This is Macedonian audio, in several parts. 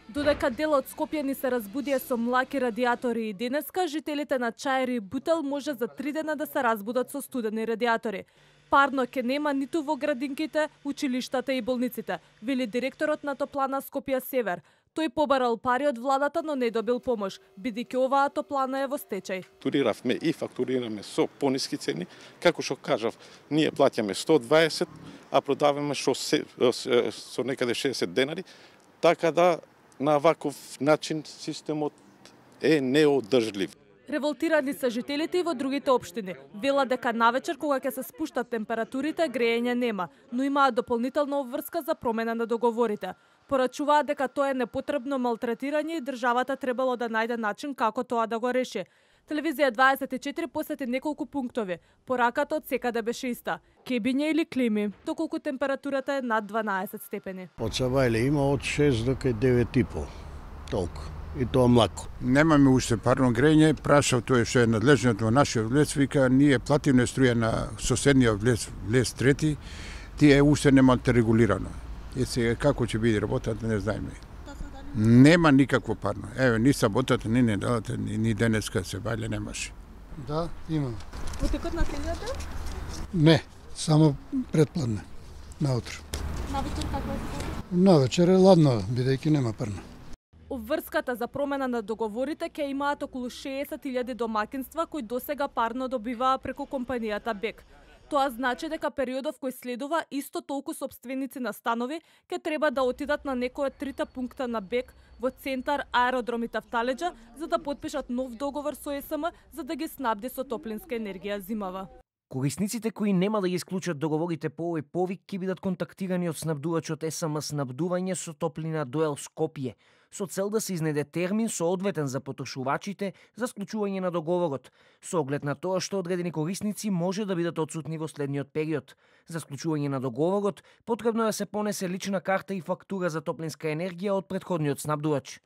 Додека дел од Скопје ни се разбудија со млаки радиатори и денеска, жителите на Чаир и Бутел може за 3 дена да се разбудат со студени радиатори. Парно ќе нема ниту во градинките, училиштата и болниците, вели директорот на Топлана Скопје Север. Тој побарал пари од владата, но не добил помош, бидејќи оваа топлана е во стечај. Фактуриравме и фактурираме со пониски цени, како што кажав, ние плаќаме 120, а продаваме со некаде 60 денари, така да на ваков начин системот е неодржлив. Револтирани се жителите и во другите општини. Вела дека навечер кога ќе се спуштат температурите, грејење нема, но имаат дополнителна обврска за промена на договорите. Порачуваат дека тоа е непотребно малтретирање и државата требало да најде начин како тоа да го реши. Телевизија 24 посети неколку пунктови. Пораката од секаде беше иста: кебиње или клими, доколку температурата е над 12 степени. Од Савајле има од 6 до 9,5. Толку. И тоа млако. Немаме уште парно грејење, прашав тој што е надлежниот во нашиот влез, вика ние платиме струја на соседниот влез трети, тие уште немате регулирано. И сега како ќе биде работата не знаеме. Нема никакво парно. Еве, ни саботата, ни неделата, ни денеска се бајле немаше. Да, имам. Во текот на седмицата? Не, само предпладне, наутро. Навечер каква е ситуација? Навечер е ладно, бидејќи нема парно. Обврската за промена на договорите ќе имаат околу 60.000 домакинства кои досега парно добиваа преку компанијата БЕК. Тоа значи дека периодов кој следува исто толку сопственици на станови ќе треба да отидат на некој од трите пункта на БЕК во центар, аеродром и Тафталеџа за да потпишат нов договор со ЕСМ за да ги снабди со топлинска енергија зимава. Корисниците кои нема да ги исклучат договорите по овој повик ќе бидат контактирани од снабдувачот ЕСМ Снабдување со топлина Дуел Скопје, со цел да се изнеде термин соодветен за потрошувачите за склучување на договорот, со оглед на тоа што одредени корисници може да бидат отсутни во следниот период. За склучување на договорот потребно е да се понесе лична карта и фактура за топлинска енергија од претходниот снабдувач.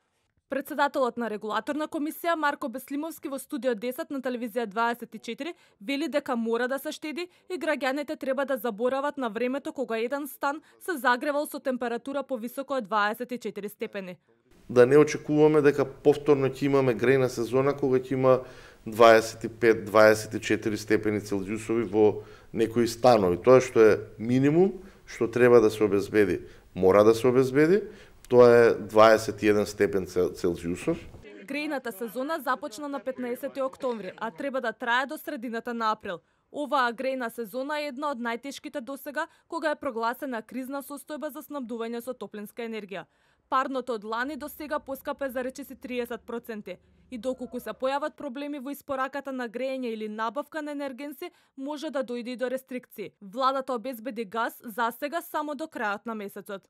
Председателот на регулаторна комисија Марко Беслимовски во студио 10 на телевизија 24 вели дека мора да се штеди и граѓаните треба да заборават на времето кога еден стан се загревал со температура повисоко од 24 степени. Да не очекуваме дека повторно ќе имаме грејна сезона кога ќе има 25-24 степени Целзиусови во некои станови. Тоа што е минимум, што треба да се обезбеди, мора да се обезбеди. Тоа е 21 степен Целзиусов. Грејната сезона започна на 15 октомври, а треба да трае до средината на април. Оваа грејна сезона е една од најтешките досега, кога е прогласена кризна состојба за снабдување со топлинска енергија. Парното од лани до сега поскапе за речиси 30%. И доколку се појават проблеми во испораката на грејење или набавка на енергенси, може да дојде и до рестрикции. Владата обезбеди газ за сега само до крајот на месецот.